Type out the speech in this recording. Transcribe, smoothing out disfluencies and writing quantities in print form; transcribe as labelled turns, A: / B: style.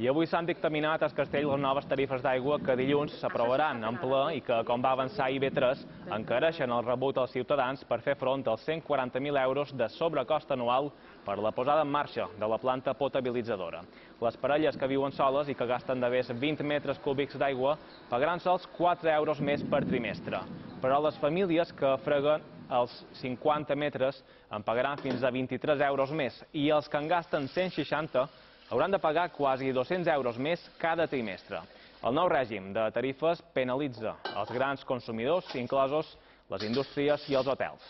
A: I avui s'han dictaminat al Castell les noves tarifes d'aigua que dilluns s'aprovaran en ple i que, com va avançar IB3, encareixen el rebut als ciutadans per fer front als 140.000 euros de sobrecost anual per la posada en marxa de la planta potabilitzadora. Les parelles que viuen soles i que gasten de més 20 metres cúbics d'aigua pagaran sols 4 euros més per trimestre, però les famílies que freguen els 50 metres en pagaran fins a 23 euros més i els que en gasten 160 hauran de pagar quasi 200 euros més cada trimestre. El nou règim de tarifes penalitza els grans consumidors, inclosos les indústries i els hotels.